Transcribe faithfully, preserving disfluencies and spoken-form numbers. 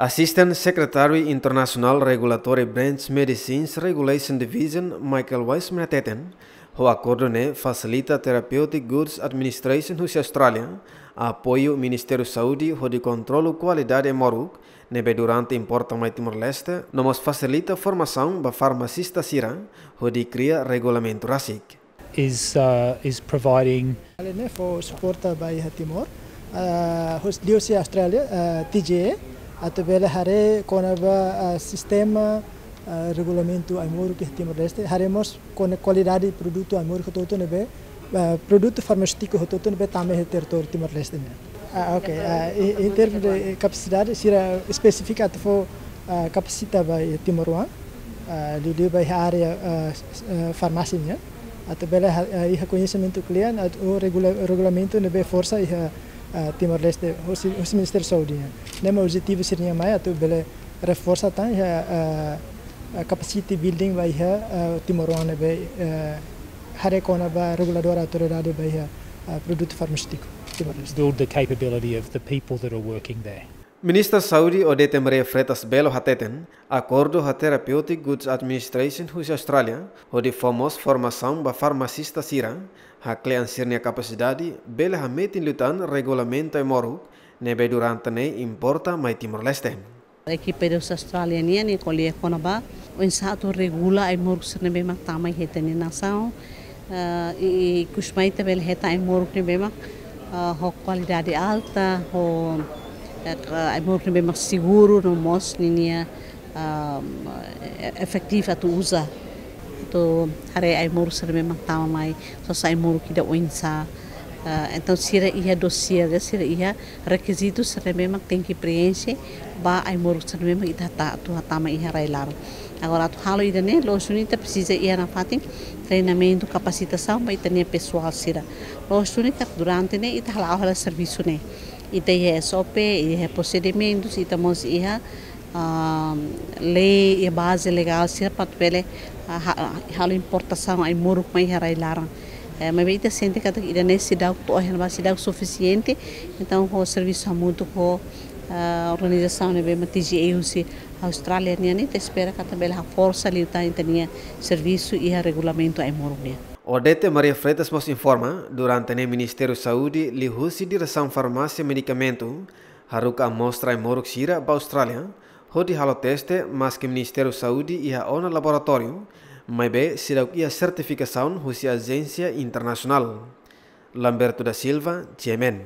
Assistant Secretary International Regulatory Branch Medicines Regulation Division, Michael Wiseman, hateten, ho akordu ne'e fasilita Therapeutic Goods Administration husi Austrália apoiu Ministériu Saúde hodi kontrolu kualidade ai-moruk ne'ebé durante importa mai Timor-Leste, no mós fasilita formasaun ba farmasista sira hodi kria regulamentu rasik. Is, uh, is providing. Alin ne'e fó suporta ba iha Timor, ah, hos liuhusi Austrália, ah, T G A, atu bele haree kona-ba, ah, sistema, ah, regulamentu ai-moruk iha Timor-Leste, haree mós kona-ba kualidade produtu ai-moruk hotu-hotu ne'ebé, ah, produtu farmaseutiku hotu-hotu ne'ebé tama iha territóriu Timor-Leste nian. Ah, ok. Ah, em, em termos de kapasidade, sira espesifika atu fó, ah, kapasita ba iha timoroan, ah, liuliu ba iha área, ah, s-, ah, farmásia nian. Atu bele ha-, ah, iha koñesimentu kle'an, atu, o regula-, regulamentu ne'ebé forsa iha, ah, Timor-Leste, husi, husi Ministériu Saúde nian. Ne'e mak objetivu sira-nian mai, atu bele reforsa tan iha, ah, ah, capacity building ba iha, ah, timoroan ne'ebé, ah, haree kona-ba reguladór autoridade ba iha, ah, produtu farmaseutiku Timor-Leste. Build the capability of the people that are working there. Ministra Saúde Odete Maria Freitas Belo hateten, akordu ho Therapeutic Goods Administration husi Austrália, hodi fó mós formasaun ba farmasista sira, hakle'an sira-nia kapasidade, bele hametin liután regulamentu ai-moruk ne'ebé durante ne'e importa mai Timor-Leste. Ekipa husi Austrália nian, nia ko'alia kona-ba oinsá atu regula ai-moruk sira ne'ebé mak tama iha ita-nia nasaun. Ah, i, i ikus mai ita bele hetan ai-moruk ne'ebé mak, ah, ho kualidade alta, ho, eh, ai-moruk ne'ebé mak seguru, no mós ninia, ah, e-, efetivu atu uza. Atu haree ai-moruk sira ne'ebé mak tama mai, sosa ai-moruk ida oinsá. Ah, entaun sira iha dosier, sira iha rekizitu sira ne'ebé mak tenke preenxe ba ai-moruk sira ne'ebé mak ita hata-, atu hatama iha rai-laran. Agora atu halo ida-ne'e, loos duni ita presiza iha nafatin treinamentu, kapasitasaun ba ita-nia pesoál sira. Loos duni katak durante ne'e ita hala'o hela servisu ne'e. Ita iha S O P, iha prosedimentus, ita mós iha, ah, lei, iha baze legál sira para atu bele, ah, ha-, halo importasaun ai-moruk mai iha rai-laran. Eh, maibé ita sente katak ida-ne'e seidauk to'o iha ne'ebá, seidauk sufisiente. Entaun ho servisu hamutuk ho, ah, organizasaun ne'ebé mak T G A husi Austrália nian, ita espera katak bele haforsa liután ita-nia servisu iha regulamentu ai-moruk nian. Odete Maria Freitas mós informa, durante ne'e Ministériu Saúde liuhusi Diresaun Farmásia Medikamentu haruka amostra ai-moruk sira ba Austrália, hodi halo teste, maske Ministériu Saúde iha ona laboratóriu, maibé seidauk iha sertifikasaun husi ajénsia internasionál. Lamberto da Silva, G M N.